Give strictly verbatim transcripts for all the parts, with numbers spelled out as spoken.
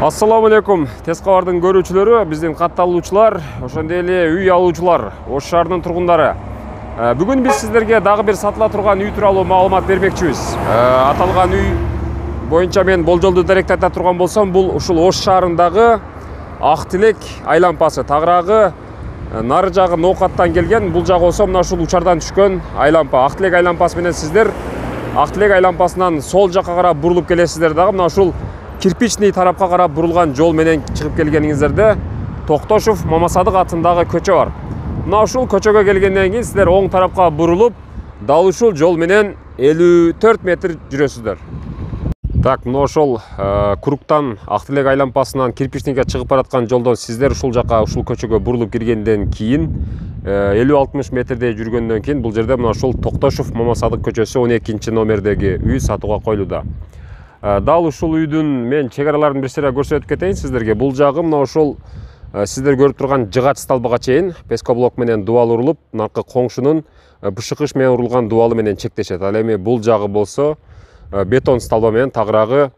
Assalamu alaikum. Тез кабардын көрүүчүлөрү, биздин катталуучулар, ошондой эле үй алуучулар, Ош шаарынын тургундары. Бүгүн биз сиздерге дагы бир сатыла турган үй тууралуу маалымат бермекчибиз. Аталган үй боюнча мен болжолдуу даректи айта турган болсом, бул ушул Ош шаарындагы Ак Тилек айлампасы. Тагыраагы нары жагы Ноокаттан келген, бул жагы болсо мына ушул учардан түшкөн айлампа. Ак Тилек айлампасы менен сиздер Ак Тилек айлампасынан сол жакка карап бурулуп келесиздер дагы мына ушул кирпичный тарапка карап бурулган жол менен чыгып келгениңиздерде Токтошов Мамасадык атындагы көчө бар. Мына ушул көчөгө келгенден кийин сиздер оң тарапка бурулуп, дал ушул жол менен элүү төрт метр жүрөсүздөр. Так, мына ошол Куруктан Ак Тилек айлампасынан кирпичныйга чыгып бараткан жолдон сиздер ушул жака ушул көчөгө бурулуп киргенден кийин элүү алтымыш метрдей жүргөндөн кийин бул жерде мына ушул Токтошов Мамасадык көчөсү он экинчи номердеги үй сатууга коюлууда. Дал ушул үйдүн мен чек араларын бир сыйра көрсөтүп кетейин сиздерге. Бул жагы мына ошол сиздер көрүп турган жыгач столбага чейин пескоблок менен дубал урулуп, наркы коңшунун бышыкыш менен урулган дубалы менен чектешет. Ал эми бул жагы болсо бетон столба менен тагыраагы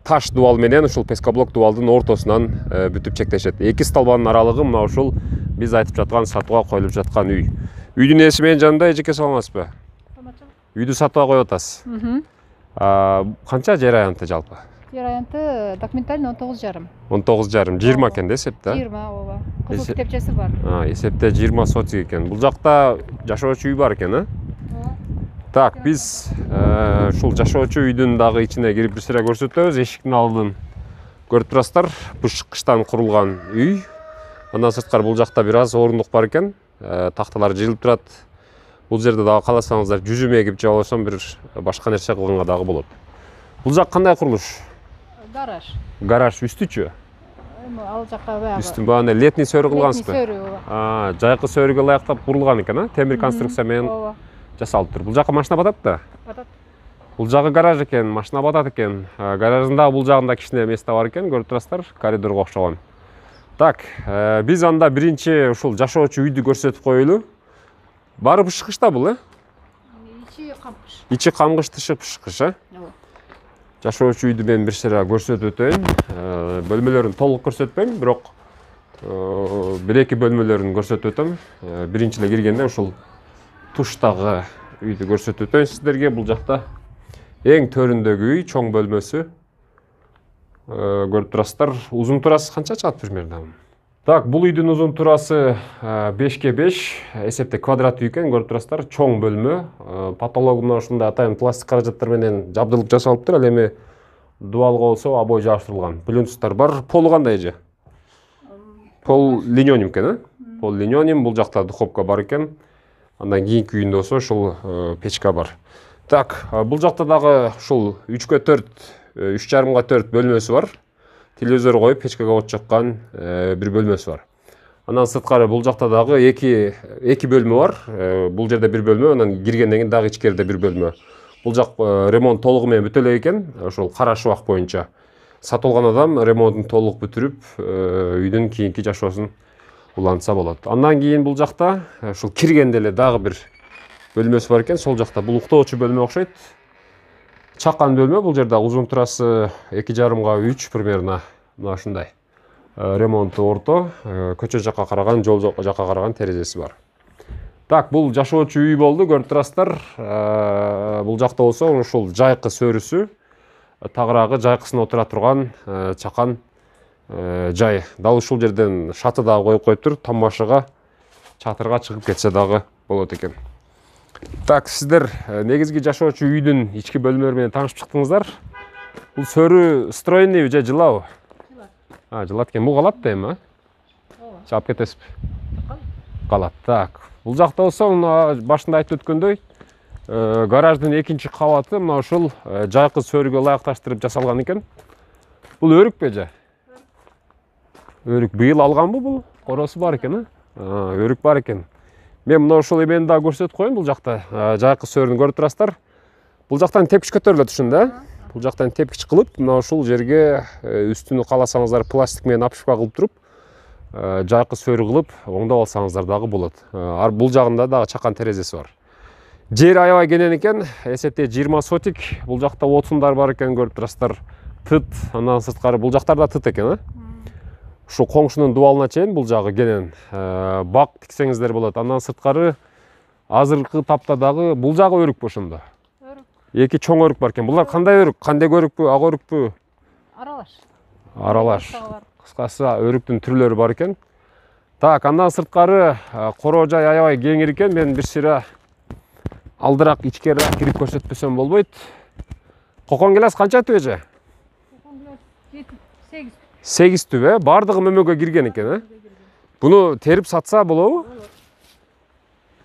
таш дубал менен ушул пескоблок дубалдын ортосунан бүтүп чектешет. Эки столбанын аралыгы мына ушул биз айтып жаткан сатууга коюлуп жаткан үй. Үйдүн ээси менен жанында эжеке саламатсызбы? Саламатчылык. Үйдү сатууга коюп атасыз. Канча жер аянты жалпы? Жер аянты документально он тогуз жарым. он тогуз жарым, жыйырма экен да эсепте? жыйырма, ооба. Кызыл китепчеси бар. А, эсепте жыйырма сотик экен. Бул жакта жашоочу үй бар экен, а? Так, биз ушул жашоочу үйдүн дагы ичине кирип бир сыйра көрсөтөбүз. Эшиктин алдын көрүп турасыздар, бышкычтан курулган үй. Андан сырткары бул жакта бир аз орундук бар экен. Такталар жыйылып турат. Бул жерде дагы кааласаңыздар жүзүм эгип же болбосо бир башка нерсе кылганга дагы болот. Бул жак кандай курулуш? Гараж. Гараж үстүчү? Ал жакка баягы. Үстүн баягы летний сөрү кылгансызбы? Летний сөрү, ооба. А, жайкы сөрүгө ылайыктап курулган экен, а? Темир конструкция менен жасалып тур. Бул жакка машина батат да? Батат. Бул жагы гараж экен, машина батат экен. Гараждын дагы бул жагында кичине место бар экен, көрүп турасыздар, коридорго окшогон. Так, биз анда биринчи ушул жашоочу үйдү көрсөтүп коелу. Бары бышкыч да бул, э? Ичи камгыш. Ичи камгыш, тышы бышкыч, э? Ооба. Жашоочу үйдү мен бир сыйра көрсөтүп өтөйүн. Бөлмөлөрүн толук көрсөтпөйм, бирок бир эки бөлмөлөрүн көрсөтүп өтөм. Биринчи эле киргенде ушул туштагы үйдү көрсөтүп өтөйүн сиздерге. Бул жакта эң төрүндөгү үй, чоң бөлмөсү. Көрүп турасыздар. Узун турасы канча чыгат примерно? Так, бул үйдүн узун турасы бешке беш, эсепте квадрат үй экен, көрүп турасыздар, чоң бөлмө. Потологу мына ушундай атайын пластик каражаттар менен жабдылып жасалыптыр. Ал эми дубалга болсо обой жабыштырылган. Плюнцтар бар. Полу кандай же? Пол линионим экен, э? Пол линионим, бул жакта духовка бар экен. Андан кийинки үйүндө болсо ушул печка бар. Так, бул жакта дагы ушул үчкө төрт, үч жарымга төрт бөлмөсү бар. Телевизор коюп, печкага от жаккан бир бөлмөсү бар. Андан сырткары бул жакта дагы эки эки бөлмө бар. Бул жерде бир бөлмө, анан киргенден кийин дагы ичкерде бир бөлмө. Бул жак ремонт толугу менен бүтө элек экен. Ошол кара шубак боюнча сатылган адам ремонтун толук бүтүрүп, үйдүн кийинки жашоосун улантса болот. Андан кийин бул жакта ушул киргенде эле дагы бир бөлмөсү бар экен. Сол жакта бул уктоочу бөлмө окшойт. Чакан бөлмө, бул жерде узун турасы эки жарымга үч примерно, мына ушундай. Ремонту орто, көчө жакка караган, жол жакка караган терезеси бар. Так, бул жашоочу үй болду, көрүп турасыздар. Бул жакта болсо ушул жайкы сөрүсү, тагыраагы жайкысын отура турган чакан жай. Дал ушул жерден шаты дагы коюп коюптур, тамашыга, чатырга чыгып кетсе дагы болот экен. Так, сиздер негизги жашоочу үйдүн ички бөлмөлөрү менен таанышып чыктыңыздар. Бул сөрү стройныйбы же жылабы? Жылат. А, жылат экен. Бул калат да эми, а? Ооба. Чаап кетесизби? Калат. Так. Бул жакта болсо, башында айтып өткөндөй, гараждын экинчи кабаты мына ушул жайкы сөрүгө ылайыкташтырып жасалган экен. Бул өрүкпү же? Өрүк быйыл алганбы бул? Коросу бар экен, а? Өрүк бар экен. Мен мына ошол эмени дагы көрсөтүп коеюн. Бул жакта жайкы сөрүн көрүп турасыздар. Бул жактан тепкич көтөрүлөт ушунда, э? Бул жактан тепкич кылып, мына ушул жерге үстүнү кааласаңыздар пластик менен апшпа кылып туруп, жайкы сөрү кылып, оңдоп алсаңыздар дагы болот. Бул жагында дагы чакан терезеси бар. Жер аябай кенен экен, эсепте жыйырма сотик. Бул жакта отундар бар экен, көрүп турасыздар. тыт, андан сырткары бул жактарда тыт экен, а? Ушу коңшунун дубалына чейин бул жагы кенен бак тиксеңиздер болот. Андан сырткары азыркы тапта дагы бул жагы өрүкпү ошондо? Өрүк. Эки чоң өрүк бар экен. Булар кандай өрүк? Кандек өрүкпү, ак өрүкпү? Аралаш. Аралаш. Кыскасы өрүктүн түрлөрү бар экен. Так, андан сырткары короо жай аябай кеңир экен. Мен бир сыйра алдыраак ичкерирээк кирип көрсөтпөсөм болбойт. Кокон гилас канча түбө же? Кокон гилас жети, сегиз. сегиз түбө, бардыгы мөмөгө кирген экен, э? Буну терип сатса болобу?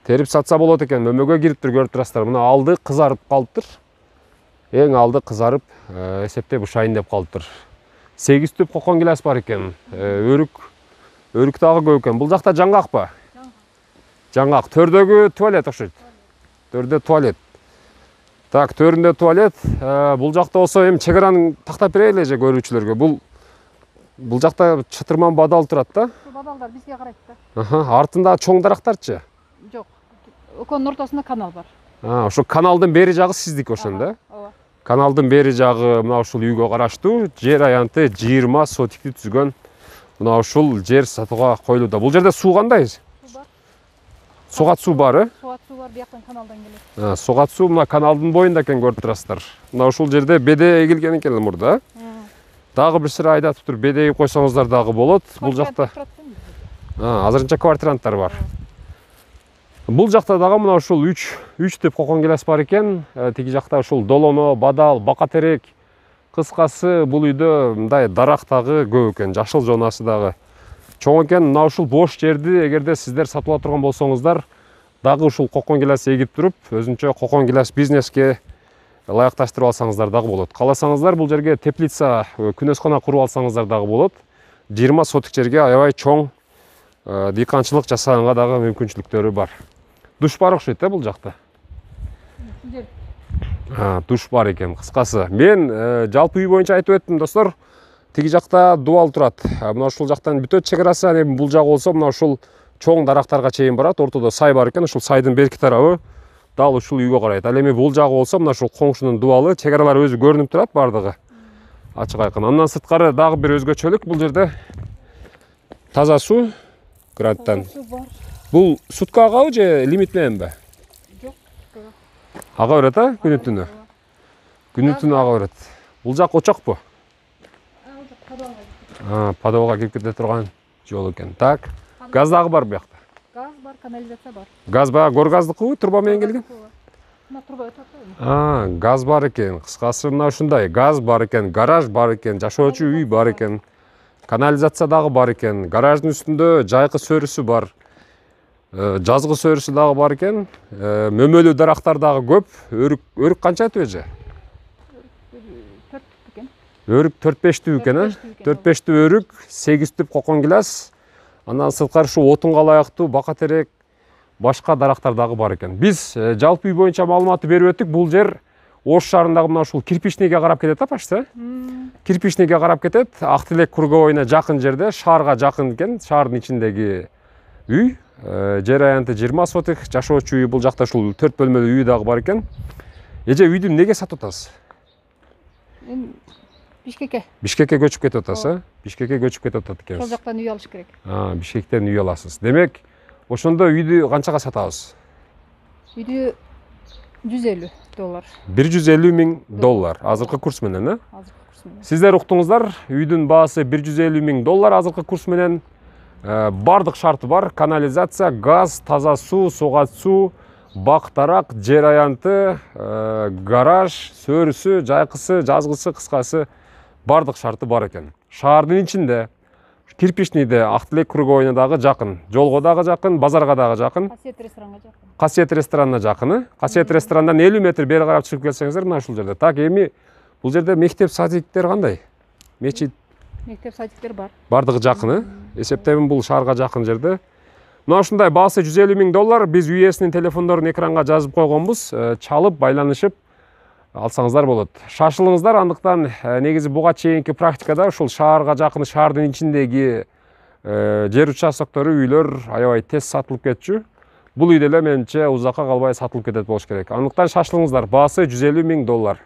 Терип сатса болот экен. Мөмөгө кириптир, көрүп турасыздар. Мына алды кызарып калыптыр. Эң алды кызарып, эсептеп ушайын деп калыптыр. сегиз түп кокон гилас бар экен. Өрүк өрүк дагы көп экен. Бул жакта жаңгакпы? Жаңгак. Төрдөгү туалет окшойт. Төрдө туалет. Так, төрүндө туалет. Бул жакта болсо эми чек араны тактап берели же көрүүчүлөргө. Бул бул жакта чытырман бадал турат да. Бадалдар бизге карайт да. Аха, артында чоң дарактарчы? Жок. Экөөнүн ортосунда канал бар. А, ошо каналдын бери жагы сиздики ошондо, э? Ооба. Каналдын бери жагы мына ушул үйгө караштуу. Жер аянты жыйырма сотикти түзгөн. Мына ушул жер сатууга коюлууда. Бул жерде суу кандай? Суу бар. Сугат суу бар, э? Сугат суу бар, бияктан каналдан келет. А, сугат суу мына каналдын боюнда экен, көрүп турасыздар. Мына ушул жерде беде эгилген экен мурда. Дагы бир сыра айдатып туруп беде эгип койсоңуздар дагы болот. Бул жакта А, азырынча квартиранттар бар. Бул жакта дагы мына ушул үч үч түп кокон гилас бар экен. Тиги жакта ушул долоно, бадал, бака терек. Кыскасы бул үйдө мындай дарак дагы көп экен, жашыл жонасы дагы чоң экен. Мына ушул бош жерди эгерде сиздер сатып ала турган болсоңуздар, дагы ушул кокон гилас эгип туруп, өзүнчө кокон гилас бизнеске ылайыкташтырып алсаңыздар дагы болот. Кааласаңыздар бул жерге теплица, күнөскана куруп алсаңыздар дагы болот. жыйырма сотик жерге аябай чоң дыйканчылык жасаганга дагы мүмкүнчүлүктөрү бар. Душ бар окшойт, э, бул жакта? А, душ бар экен. Кыскасы, мен жалпы үй боюнча айтып өттүм, достор. Тиги жакта дубал турат. Мына ушул жактан бүтөт чек арасы, эми бул жагы болсо мына ушул чоң дарактарга чейин барат. Ортодо сай бар экен. Ушул сайдын берки тарабы дал ушул үйгө карайт. Ал эми бул жагы болсо мына ушул коңшунун дубалы, чек аралары өзү көрүнүп турат бардыгы. Ачык айкын. Андан сырткары дагы бир өзгөчөлүк бул жерде таза суу гранттан. Бул сутка агабы же лимит мененби? Жок. Ага берет, а? Күнү түнү. Күнү түнү ага берет. Бул жак очокпу? А, подвалга кирип кете турган жол экен. Так. Газ дагы бар буякта. Газ бар, канализация бар. Газ баягы гор газдыкыбы, труба менен келген? Мына труба өтөт. А, газ бар экен. Кыскасы мына ушундай. Газ бар экен, гараж бар экен, жашоочу үй бар экен. Канализация дагы бар экен. Гараждын үстүндө жайкы сөрүсү бар. Жазгы сөрүсү дагы бар экен. Мөмөлүү дарактар дагы көп. Өрүк, өрүк канча түбө же? төрт түп экен. Өрүк төрт беш түп экен, э? төрт беш түп өрүк, сегиз түп кокон гилас. Андан сырткары ушу отунга ылайыктуу бака терек, башка дарактар дагы бар экен. Биз жалпы үй боюнча маалыматты берип өттүк. Бул жер Ош шаарындагы мына ушул Кирпичныйге карап кетет, а почти? Кирпичныйге карап кетет. Ак Тилек круговойуна жакын жерде, шаарга жакын экен, шаардын ичиндеги үй. Жер аянты жыйырма сотик, жашоочу үй, бул жакта ушул төрт бөлмөлүү үй дагы бар экен. Эже үйдү эмнеге сатып атасыз? Эми Бишкекке. Бишкекке көчүп кетип атасыз, э? Бишкекке көчүп кетип атат экенсиз. Сол жактан үй алыш керек. А, Бишкектен үй аласыз. Демек, ошондо үйдү канчага сатабыз? Үйдү жүз элүү доллар. бир жүз элүү миң доллар. Азыркы курс менен, э? Азыркы курс менен. Сиздер уктуңуздар, үйдүн баасы бир жүз элүү миң доллар азыркы курс менен. Бардык шарты бар. Канализация, газ, таза суу, сугат суу, бак дарак, жер аянты, гараж, сөрүсү, жайкысы, жазгысы, кыскасы бардык шарты бар экен. Шаардын ичинде, Кирпичныйде, Ак Тилек круговойуна дагы жакын, жолго дагы жакын, базарга дагы жакын. Касиет ресторанга жакын. Касиет ресторанына жакын. Касиет ресторандан элүү метр бери карап чыгып келсеңиздер, мына ушул жерде. Так, эми бул жерде мектеп, садиктер кандай? Мечит, мектеп, садиктер бар. бардыгы жакын, э? Эсептейм бул шаарга жакын жерде. Мына ушундай баасы жүз элүү миң доллар. Биз үй ээсинин телефондорун экранга жазып койгонбуз. Чалып, байланышып алсаңыздар болот. Шашылыңыздар, андыктан негизи буга чейинки практикада ушул шаарга жакын, шаардын ичиндеги жер участоктору, үйлөр аябай тез сатылып кетчү. Бул үй деле менимче узакка калбай сатылып кетет болуш керек. Андыктан шашылыңыздар, баасы жүз элүү миң доллар.